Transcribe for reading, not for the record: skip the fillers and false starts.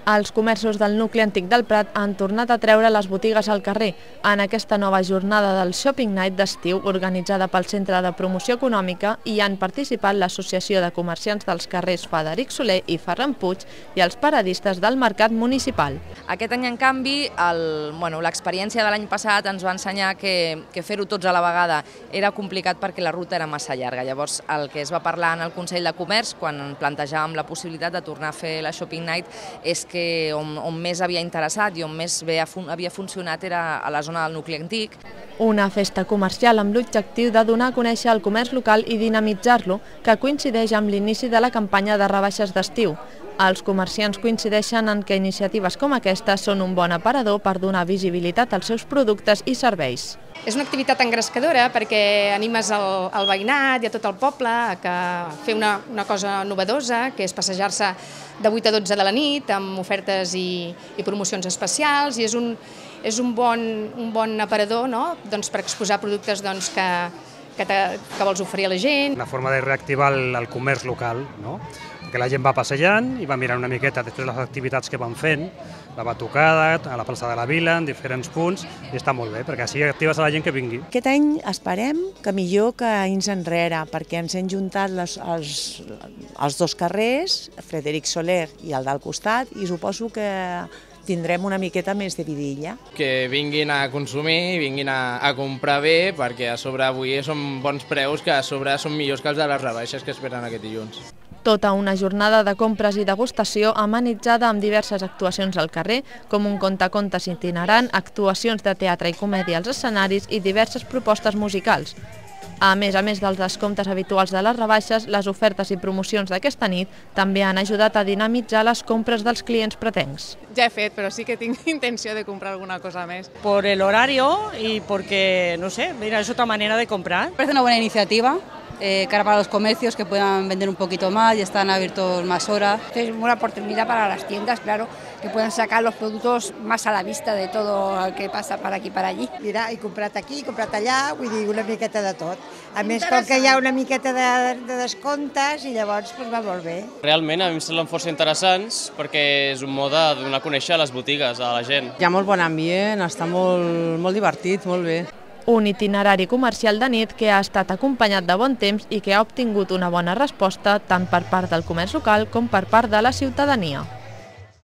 Els comerços del nucli antic del Prat han tornat a treure les botigues al carrer en aquesta nova jornada del Shopping Night d'estiu organitzada pel Centre de Promoció Econòmica i han participat l'Associació de Comerciants dels carrers Frederic Soler i Ferran Puig i els paradistes del Mercat Municipal. Aquest any, en canvi, l'experiència de l'any passat ens va ensenyar que fer-ho tots a la vegada era complicat perquè la ruta era massa llarga. Llavors, el que es va parlar en el Consell de Comerç, quan plantejàvem la possibilitat de tornar a fer la Shopping Night, és que on més havia interessat i on més bé havia funcionat era a la zona del nucli antic. Una festa comercial amb l'objectiu de donar a conèixer el comerç local i dinamitzar-lo, que coincideix amb l'inici de la campanya de rebaixes d'estiu. Els comerciants coincideixen en que iniciatives com aquesta són un bon aparador per donar visibilitat als seus productes i serveis. És una activitat engrescadora perquè animes el veïnat i a tot el poble a fer una cosa novedosa, que és passejar-se de 8 a 12 de la nit amb ofertes i promocions especials, i és un bon aparador per exposar productes que vols oferir a la gent. Una forma de reactivar el comerç local, que la gent va passejant i va mirant una miqueta després les activitats que van fent, la batucada, a la plaça de la Vila, en diferents punts, i està molt bé, perquè així actives a la gent que vingui. Aquest any esperem que millor que anys enrere, perquè ens hem juntat els dos carrers, Frederic Soler i el del costat, i suposo que tindrem una miqueta més de vidilla. Que vinguin a consumir, vinguin a comprar bé, perquè a sobre avui són bons preus, que a sobre són millors que els de les rebaixes que esperen aquest dilluns. Tota una jornada de compres i degustació amenitzada amb diverses actuacions al carrer, com un contacontes itinerant, actuacions de teatre i comèdia als escenaris i diverses propostes musicals. A més dels descomptes habituals de les rebaixes, les ofertes i promocions d'aquesta nit també han ajudat a dinamitzar les compres dels clients pretencs. Ja he fet, però sí que tinc intenció de comprar alguna cosa més. Por el horario y porque, no sé, mira, es otra manera de comprar. Parece una buena iniciativa. Cara para los comercios que puedan vender un poquito más y están abiertos más horas. Es una oportunidad para las tiendas, claro, que puedan sacar los productos más a la vista de todo el que passa per aquí i per allí. Mira, he comprat aquí, he comprat allà, vull dir, una miqueta de tot. A més, com que hi ha una miqueta de descomptes i llavors va molt bé. Realment a mi em semblen força interessants perquè és un mode de donar a conèixer les botigues a la gent. Hi ha molt bon ambient, està molt divertit, molt bé. Un itinerari comercial de nit que ha estat acompanyat de bon temps i que ha obtingut una bona resposta tant per part del comerç local com per part de la ciutadania.